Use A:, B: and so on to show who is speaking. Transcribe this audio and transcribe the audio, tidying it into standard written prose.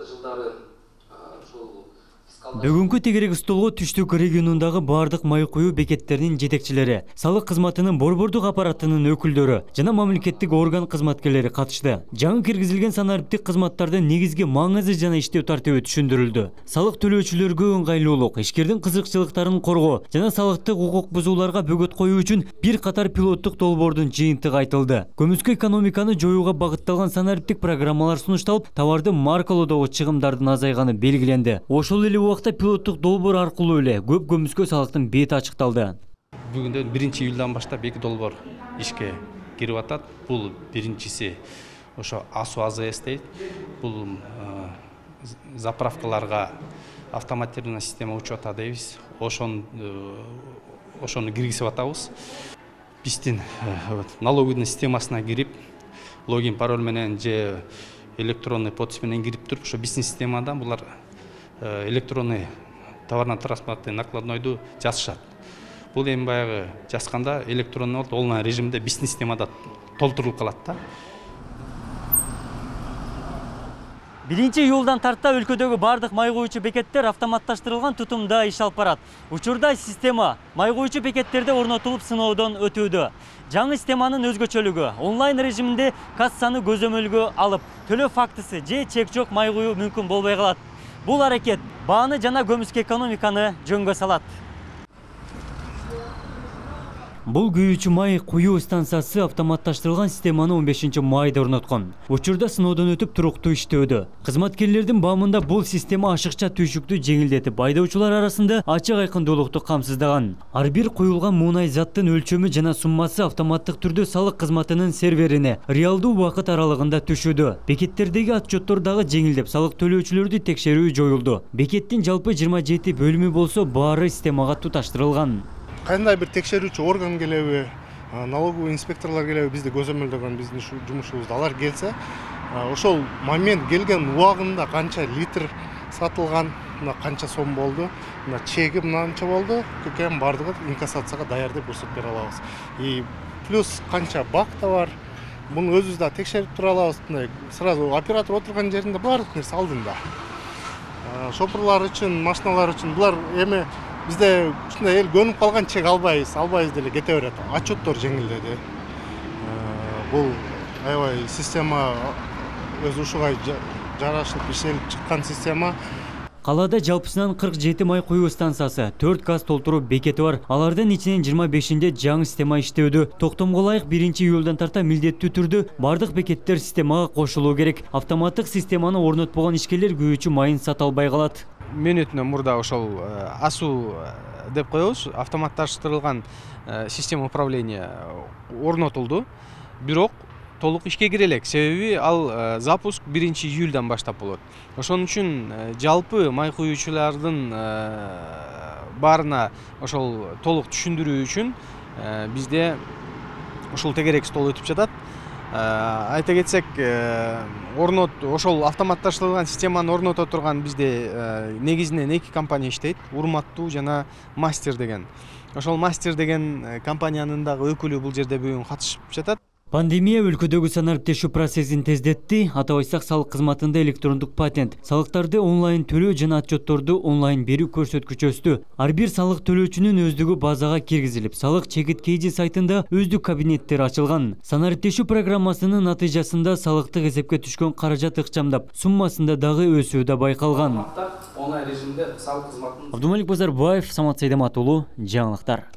A: жылдары ушул
B: Бүгүнкү тегерек столго Түштүк регионундагы бардык май куюу бекеттеринин жетекчилери, салык кызматынын борбордук аппаратынын өкүлдөрү жана мамлекеттик орган кызматкерлери катышты. Жаңы киргизилген санариптик кызматтардын негизги маңызы жана иштөө тартиби түшүндүрүлдү. Салык төлөөчүлөргө ыңгайлуулук, ишкердин кызыкчылыктарын коргоо жана салыктык укук бузууларга бөгөт коюу үчүн бир катар пилоттук долбоордун жыйынтыгы айтылды. Көмүскө экономиканы жоюуга багытталган санариптик программалар сунушталып, товарды маркалоодогу чыгымдардын азайганы белгиленди. Ошол эле убакта пилоттук долбоор аркылуу эле көп көмүскө салыктын бети ачыкталды.
C: Бүгүндө 1-июлдан баштап 2 долбоор ишке кирип атат. Бул биринчиси ошо АСУ АЗС дейт. Бул заправкаларга автоматизированный система учета дейбиз. Ошону киргизип атабыз. Биздин налоговый системасына кирип, логин пароль менен же электронный подпись менен кирип туруп, ошо биздин системадан булар электронный товарно-транспортный накладнойду жазышат. Бул эми баягы жазганда электронный болуп, онлайн режимде биздин системада толтурулуп калат да.
B: 1-июлдан тарта өлкөдөгү бардык май куюучу бекеттер автоматташтырылган тутумда иш алып барат. Учурда система май куюучу бекеттерде орнотулуп сыноодон өтүүдө. Жаңы системанын өзгөчөлүгү онлайн режиминде кассаны көзөмөлгө алып, төлөө фактысы же чек жок май куюу мүмкүн болбой калат. Бул аракет бааны жана көмүскө экономиканы жөнгө салат. Бул күйүүчү май куюу станциясы автоматташтырылган системаны 15 майда орноткон. Учурда сыноодон өтүп туруктуу иштөөдө. Кызматкерлердин баамында бул система ашыкча түйшүктү жеңилдетип, айдоочулар арасында ачык айкындуулукту камсыздаган. Ар бир куюлган мунай заттын өлчөмү жана суммасы автоматтык түрдө салык кызматынын серверине реалдуу убакыт аралыгында түшүүдө. Бекеттердеги отчеттор дагы жеңилдеп, салык төлөөчүлөрдү текшерүү жоюлду. Бекеттин жалпы 27 бөлүмү болсо, баары системага туташтырылган.
D: Кандай бир текшерүүчү орган келеби, налоговый инспекторлор келеби бизди көзөмөлдөгөн биздин жумушубузда алар келсе, ошол момент келген убагында канча литр сатылган, канча сом болду, чеги мынанча болду, экен бардыгы инкассацияга даяр деп көрсөтүп бере алабыз. И плюс канча бакта бар, муну өзүбүз да текшерип тура алабыз. Сразу оператор отурган жеринде баардык нерсе алдында. Шопурлар үчүн, машиналар үчүн булар эми бизде ушундай эл көнүп калган чек албайбыз деле кете берет. Отчеттор жеңилдеди. Бул аябай система өз ушуга жарашып иштелип чыккан система.
B: Калаада жалпысынан 47 май куюу станциясы, 4 газ толтуруу бекети бар. Алардын ичинен 25-нде жаңы система иштөөдө. Токтомго ылайык 1-июлдан тарта милдеттүү түрдө бардык бекеттер системага кошулуу керек. Автоматтык системаны орнотпогон ишкерлер күйүүчү майын сата албай калат.
E: Мен өтүнөн мурда ошол АСУ деп коебуз, автоматташтырылган система управления орнотулду. Бирок толук ишке кире элек, себеби ал запуск 1-июлдан баштап болот. Ошон үчүн жалпы май куюучулардын баарына ошол толук түшүндүрүү үчүн бизде ушул тегерек стол өтүп жатат. Айта кетсек, ошол автоматташтырылган системаны орното турган бизде негизинен 2 компания иштейт, Урматтуу жана Мастер деген. Ошол Мастер деген компаниянын дагы өкүлү бул жерде бүгүн катышып жатат.
B: Пандемия өлкөдөгү санариптешүү процессин тездетти. Атап айтсак, салык кызматында электрондук патент, салыктарды онлайн төлөө жана отчетторду онлайн берүү көрсөткүчү өстү. Ар бир салык төлөөчүнүн өздүгү базага киргизилип, салык чекит KG сайтында өздүк кабинеттер ачылган. Санариптешүү программасынын натыйжасында салыктык эсепке түшкөн каражат ыкчамдап, суммасында дагы өсүү да байкалган.
A: Онлайн режимде салык кызматын
B: Абдумалик Базарбаев, Самат Сайдамат уулу, жаңылыктар.